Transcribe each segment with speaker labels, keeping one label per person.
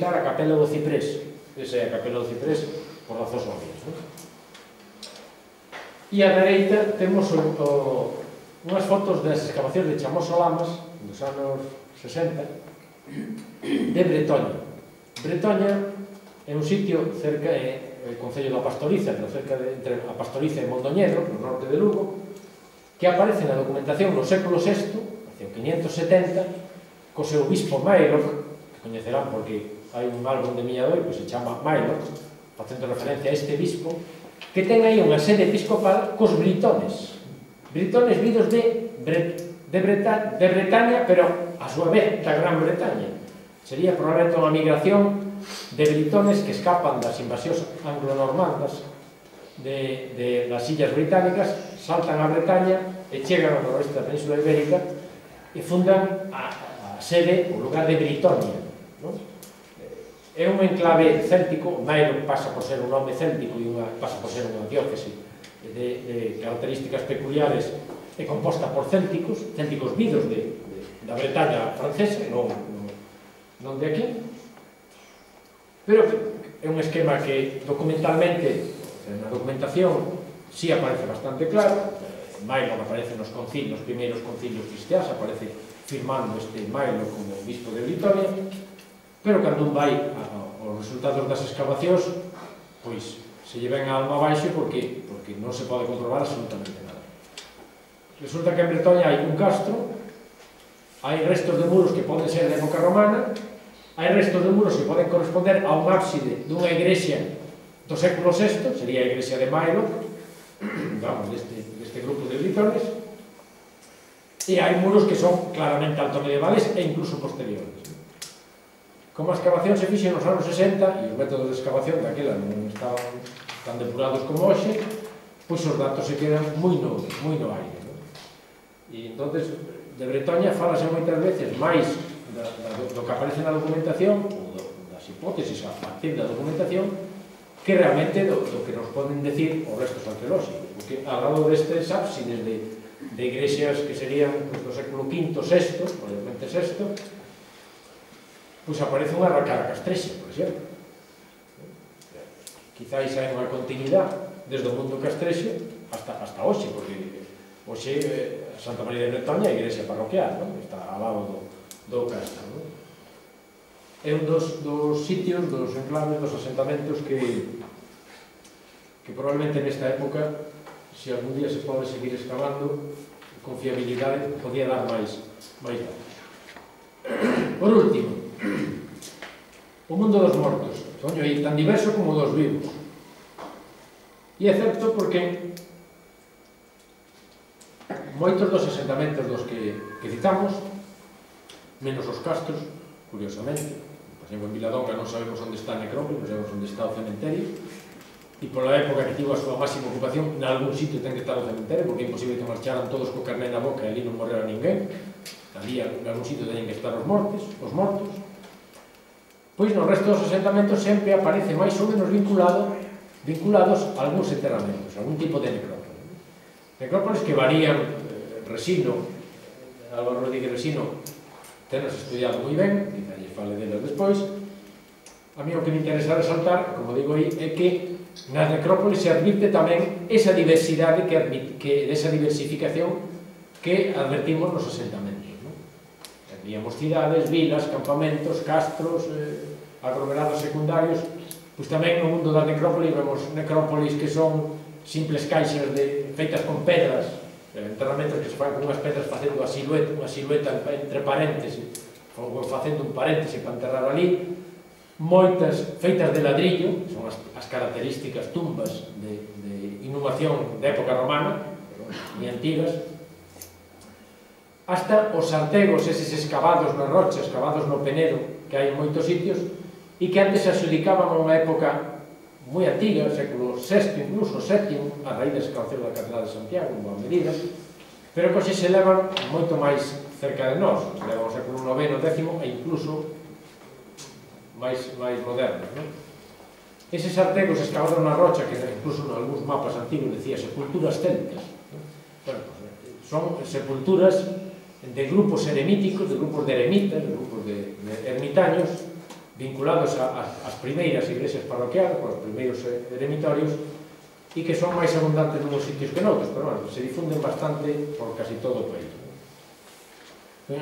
Speaker 1: identificar a Capela do Ciprés. Esa é a Capela do Ciprés por razóns obvias. E á dereita temos unhas fotos das excavacións de Chamós-Solamas dos anos 60 de Bretoña. Bretoña é un sitio cerca do concello da Pastoriza, pero cerca entre a Pastoriza e Mondoñedo, no norte de Lugo, que aparece na documentación no século VI, hacia o 570, co seu bispo Mailoc, que coñecerán porque hai un álbum de Miñadoi que se chama Mailoc, facendo referencia a este bispo, que ten aí unha sede episcopal cos britones. Britones vidos de Bretaña, pero a súa vez da Gran Bretaña. Sería probablemente unha migración de britones que escapan das invasións anglo-normandas das illas británicas, saltan a Bretaña e chegan ao noroeste da Península Ibérica e fundan a sede, o lugar de Britonia. É un enclave céltico, Mairo pasa por ser un nome céltico e pasa por ser unha diócese de características peculiares e composta por célticos vidos da Bretaña francesa, non de aquí, pero é un esquema que documentalmente, na documentación, sí aparece bastante claro. Mailo aparece nos primeiros concilios cristiáns, aparece firmando este Mailo como bispo de Britonia, pero cando un vai aos resultados das excavacións, pois se lle ven a alma abaixo porque non se pode comprobar absolutamente nada. Resulta que en Bretoña hai un castro, hai restos de muros que poden ser de época romana, hai restos de muros que poden corresponder a un ábside dunha igrexa do século VI, sería a igrexa de Mailo, deste grupo de britones, e hai muros que son claramente altomedievales e incluso posteriores. Como a excavación se fixe nos anos 60 e os métodos de excavación daquela non estaban tan depurados como hoxe, pois os datos se quedan moi no aire. E entonces de Bretoña falase moitas veces máis do que aparece na documentación ou das hipótesis a partir da documentación que realmente do que nos poden decir os restos arqueolóxicos, porque ao lado destes ábsides de igrexas que serían do século V, VI, probablemente VI, pois aparece unha arracada castrexa, por exemplo. Quizáis hai unha continuidade desde o mundo castrexo hasta hoxe, porque hoxe Santa María de Bretoña é a igrexa parroquial, está ao lado do castro. É un dos sitios, dos enclaves, dos asentamentos que probablemente nesta época, se algún día se pode seguir excavando, con fiabilidade podía dar máis datos. Por último, o mundo dos mortos, soño aí tan diverso como dos vivos. E é certo porque moitos dos asentamentos dos que citamos, menos os castros, curiosamente, por exemplo, en Viladonga non sabemos onde está a necrópole, non sabemos onde está o cementerio, e pola época que tivo a súa máxima ocupación, en algún sitio ten que estar o cementerio, porque é imposible que marcharan todos co carné na boca e ali non morrera ninguén. Ali, en algún sitio, teñen que estar os mortos. Pois no resto dos asentamentos sempre aparece máis ou menos vinculados a algúns enterramentos, a algún tipo de necrópole. Necrópoles que varían. Resino, Álvaro Rodríguez Resino, tenos estudiado moi ben, quizá lle fale delas despois. A mí o que me interesa resaltar, como digo aí, é que nas necrópoles se advirte tamén esa diversidade, esa diversificación que advertimos nos asentamentos. Teníamos cidades, vilas, campamentos, castros, aglomerados secundarios. Pois tamén no mundo da necrópole vemos necrópolis que son simples caixas feitas con pedras, enterramentos que se fan con unhas pedras facendo unha silueta entre paréntesis, ou facendo un paréntese para enterrar ali, moitas feitas de ladrillo, son as características tumbas de inhumación de época romana, moi antigas, hasta os sartegos, eses excavados na rocha, excavados no Penedo, que hai en moitos sitios, e que antes se adjudicaban a unha época moi antiga, século VI, incluso VII, a raíz da excavación da Catedral de Santiago, en boa medida, pero que se levan moito máis cerca de nós, se levan ao século IX, X e incluso máis modernos. Eses sartegos excavados na rocha, que incluso en algúns mapas antigos decía sepulturas célticas, son sepulturas de grupos eremíticos, de grupos de eremitas, de grupos de ermitaños, vinculados ás primeiras iglesias parroquiales, os primeiros eremitorios, e que son máis abundantes nuns sitios que noutros, pero bueno, se difunden bastante por casi todo o país.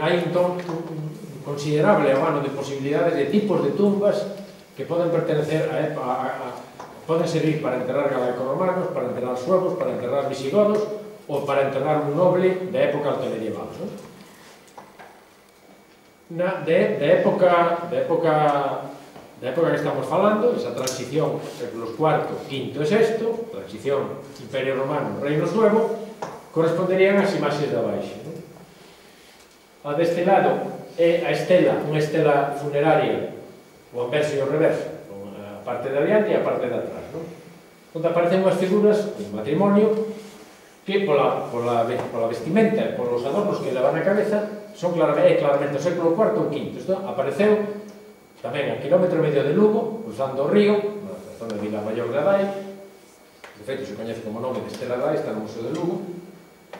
Speaker 1: Hai entón un considerable abano de posibilidades de tipos de tumbas que poden pertenecer poden servir para enterrar galaico-romanos, para enterrar suevos, para enterrar visigodos ou para enterrar un noble da época altomedieval. Da época que estamos falando, esa transición séculos IV, V e VI, transición Imperio Romano, Reino Suevo, corresponderían ás imaxes de abaixo. A deste lado é a estela, unha estela funeraria, o anverso e o reverso, a parte de adiante e a parte de atrás, onde aparecen unhas figuras de matrimonio que pola vestimenta e polos adornos que levan na cabeza son claramente o século IV ou V. Isto apareceu tamén a kilómetro e medio de Lugo, cruzando o río, na zona de Vilamayor de Adai, de feito se coñece como nome de Estela Adai, está no Museo de Lugo,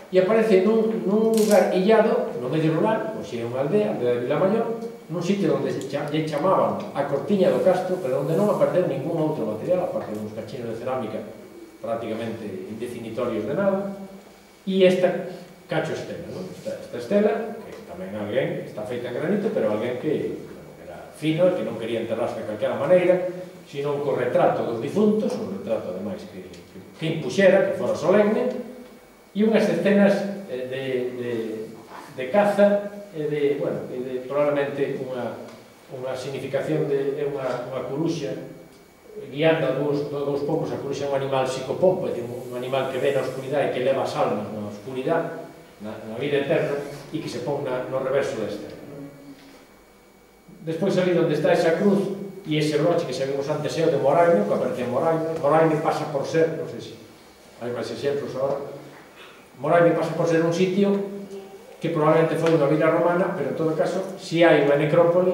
Speaker 1: e aparece nun lugar illado, no medio rural, ou xe unha aldea de Vilamayor, nun sitio onde lle chamaban a Cortiña do Castro, pero onde non apareceu ningún outro material, aparte de uns cachinos de cerámica prácticamente indefinitorios de nada, e esta cacho estela, esta estela, que tamén alguén está feita en granito, pero alguén que fino, que non quería enterrarse de calquera maneira, sino un retrato dos difuntos, un retrato ademais que impuxera, que fora solemne, e unhas escenas de caza e de probablemente unha significación de unha curuxa guiando a dous poucos. A curuxa é un animal psicopompo, é un animal que ve na oscuridade e que leva as almas na oscuridade, na vida eterna, e que se pon no reverso da estela. Despois ali onde está esa cruz e ese broche que xa vimos antes é o de Moraino, que aparece en Moraino. Moraino pasa por ser, non sei se hai máis exemplos agora, Moraino pasa por ser un sitio que probablemente foi unha vila romana, pero en todo caso si hai unha necrópoli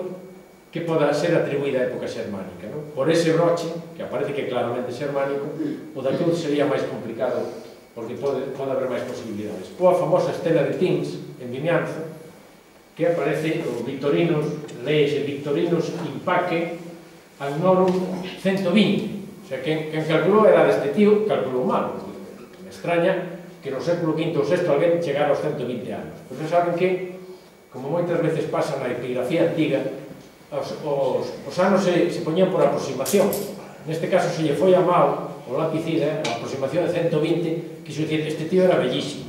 Speaker 1: que poda ser atribuída á época xermánica. Por ese broche, que aparece que é claramente xermánico, o da cruz sería máis complicado, porque pode haber máis posibilidades. Ou a famosa estela de Tins, en Vimianzo, que aparece o Victorinos, leese Victorinos Impaque Annorum 120. O sea, quen calculou era deste tío, calculou mal. Me extraña que no século V ou VI alguén chegara aos 120 anos. Pois non saben que, como moitas veces pasa na epigrafía antiga, os anos se poñían por aproximación. Neste caso, se lle foi a mal o lapicida, a aproximación de 120, quiso dicir, este tío era bellísimo.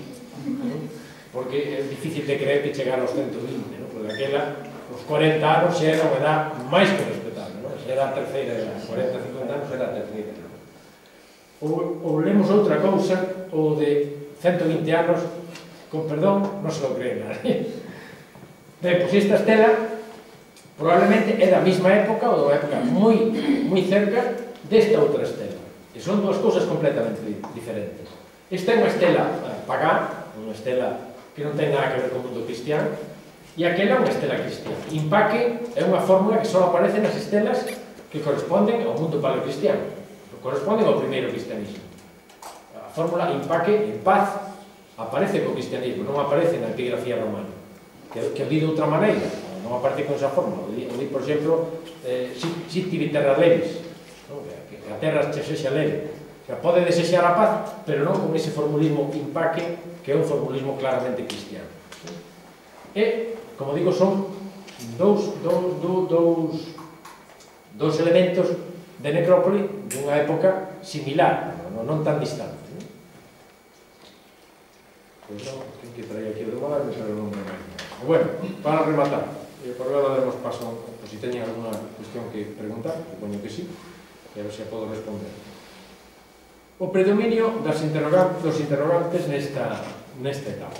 Speaker 1: Porque é difícil de creer que chegara aos 120, porque aquela, os 40 anos xa era unha edad máis que respetable, xa era a terceira edad, 40, 50 anos era a terceira edad. Ou lemos outra cousa, o de 120 anos, con perdón, non se lo cree nadie. Ben, pois esta estela probablemente é da mesma época, ou da época moi cerca desta outra estela, que son dúas cousas completamente diferentes. Esta é unha estela pagá, unha estela que non ten nada que ver con o mundo cristiano, e aquela é unha estela cristiana. Impaque é unha fórmula que só aparece nas estelas que corresponden ao mundo paleocristiano, que corresponden ao primeiro cristianismo. A fórmula Impaque, en paz, aparece co cristianismo, non aparece na epigrafía romana, que o di de outra maneira, non aparece con esa fórmula. O di, por exemplo, sitivi terra levis, que a terra che sexa leve. Pode desexar a paz, pero non con ese formulismo Impaque, que é un formulismo claramente cristiano. E, como digo, son dous elementos de necrópoli dunha época similar, non tan distante. Pois non, ten que traer aquí o de Moraino, pero non me vai. Bueno, para rematar, por agora daremos paso, por si teñen alguna cuestión que preguntar, supoño que sí, e a ver se a podo responder. O predominio dos interrogantes nesta etapa.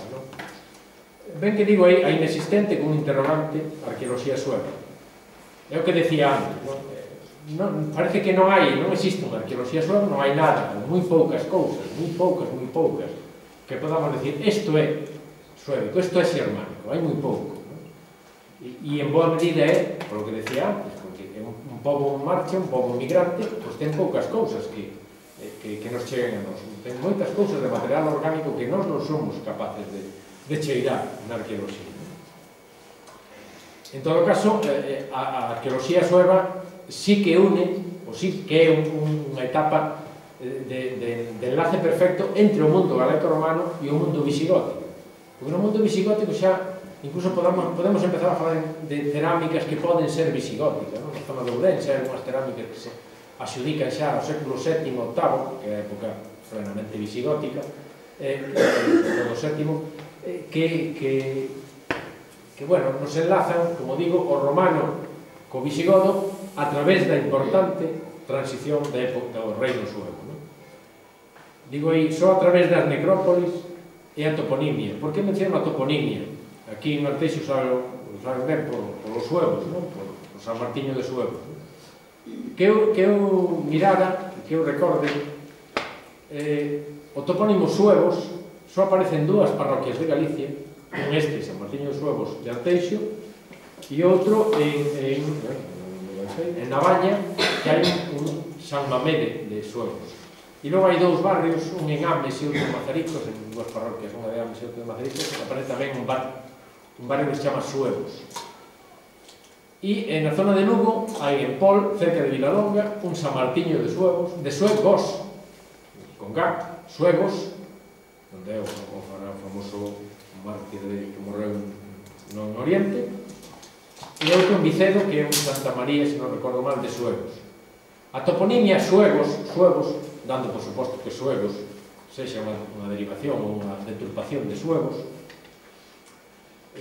Speaker 1: Ben que digo aí a inexistente con un interrogante arqueoloxía sueva. É o que decía antes. Parece que non existe unha arqueoloxía sueva, non hai nada, moi poucas cousas, moi poucas, que podamos decir, isto é suevico, isto é xermánico, hai moi pouco. E en boa medida é, por lo que decía antes, porque é un pobo en marcha, un pobo migrante, pois ten poucas cousas que nos cheguen a nós. Ten moitas cousas de material orgánico que nós non somos capaces de cheirar na arqueoloxía. En todo caso, a arqueoloxía sueva sí que une, ou sí que é unha etapa de enlace perfecto entre o mundo galaico-romano e o mundo visigótico. Porque no mundo visigótico xa incluso podemos empezar a falar de cerámicas que poden ser visigóticas, na zona de Ourense hai algunhas cerámicas que se axudican xa ao século VII e VIII, que é a época plenamente visigótica, do VII, que bueno, nos enlazan, como digo, o romano co visigodo a través da importante transición da época do reino suevo. Digo aí, só a través das necrópolis e a toponimia. Por que menciono a toponimia? Aquí en Arteixo saben ben polos suevos, por San Martiño de Suevos. Que eu mirara, que eu recorde, o topónimo suevos só aparece en dúas parroquias de Galicia, un este, San Martiño de Suevos de Arteixo, e outro en Navaña, que hai un San Mamede de Suevos. E logo hai dous barrios, un en Ames e outro en Mazaricos, en dúas parroquias, unha de Ames e outra de Mazaricos, que aparece tamén un barrio que se chama Suevos. E na zona de Lugo hai en Pol, cerca de Vilalonga, un San Martiño de Suevos, de Suevos, con G, Suevos, onde é o famoso mártir que morreu no Oriente, e outro en Vicedo, que é un Santa María, se non recordo mal, de Suevos. A toponimia Suevos, dando por suposto que Suevos sexa unha derivación ou unha deturpación de Suevos,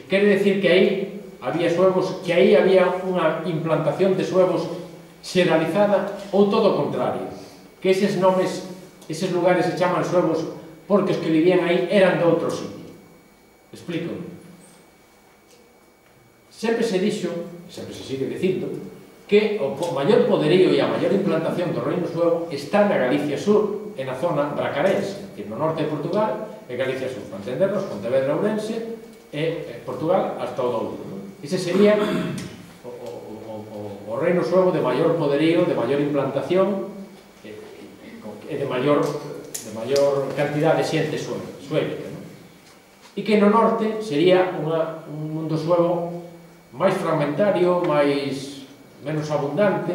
Speaker 1: quere decir que aí había suevos, que aí había unha implantación de suevos xeralizada, ou todo o contrario, que eses nomes, eses lugares se chaman suevos porque os que vivían aí eran de outro sitio. Explícome. Sempre se dixo, sempre se sigue dicindo, que o maior poderío e a maior implantación do reino suevo está na Galicia Sur e na zona bracarense, no norte de Portugal e Galicia Sur, para entendernos, Pontevedra, Ourense e Portugal hasta o Douro. Ese sería o reino suevo de maior poderío, de maior implantación e de maior cantidad de xente suébica. E que no norte sería un mundo suevo máis fragmentario, menos abundante,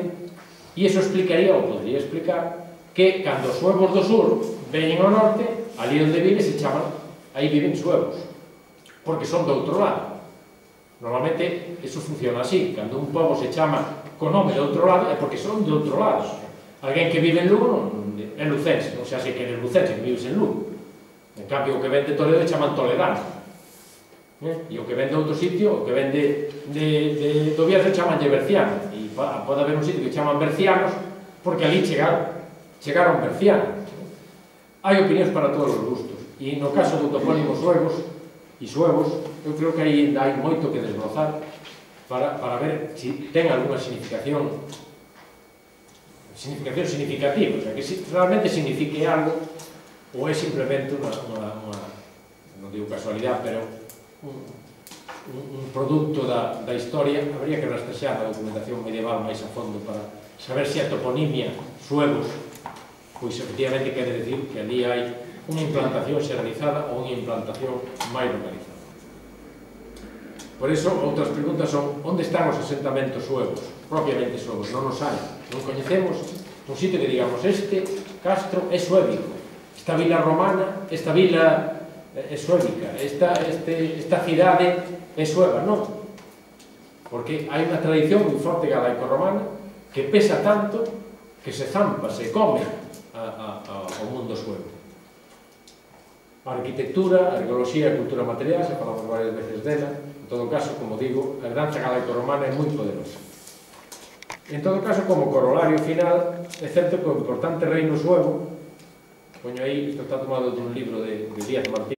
Speaker 1: e iso explicaría, ou podría explicar, que cando os suevos do sur veñen ao norte, ali onde vive se chaman, aí viven suevos, porque son do outro lado. Normalmente, iso funciona así, cando un pobo se chama co nome do outro lado, é porque son do outro lado. Alguén que vive en Lugo é lucense, non xa sei que é lucense, que vives en Lugo. En cambio, o que ven de Toledo chaman toledano. E o que ven de outro sitio, o que ven do Bierzo chamanlle berciano. E pode haber un sitio que chaman bercianos porque ali chegaron bercianos. Hai opinións para todos os gustos. E no caso do topónimo suevos, eu creo que aí hai moito que desbrozar para ver se ten alguna significación significativa, o sea, que realmente signifique algo ou é simplemente non digo casualidade, pero un produto da historia. Habría que rastrexar a documentación medieval máis a fondo para saber se a toponimia suevos pois efectivamente quere decir que ali hai unha implantación xeralizada ou unha implantación máis localizada. Por iso, outras preguntas son: onde están os asentamentos suevos? Propiamente suevos, non os hai. Non coñecemos un sitio que digamos este castro é suébico, esta vila romana, esta vila é suébica, esta cidade é sueva, non. Porque hai unha tradición moi forte galaico-romana que pesa tanto que se zampa, se come ao mundo suevo. A arquitectura, a arqueoloxía e a cultura material, se falamos varias veces dela. En todo caso, como digo, a heranza galaico-romana é moi poderosa. En todo caso, como corolario final, é certo que o importante reino suevo, poño aí, isto está tomado dun libro de Díaz Martín,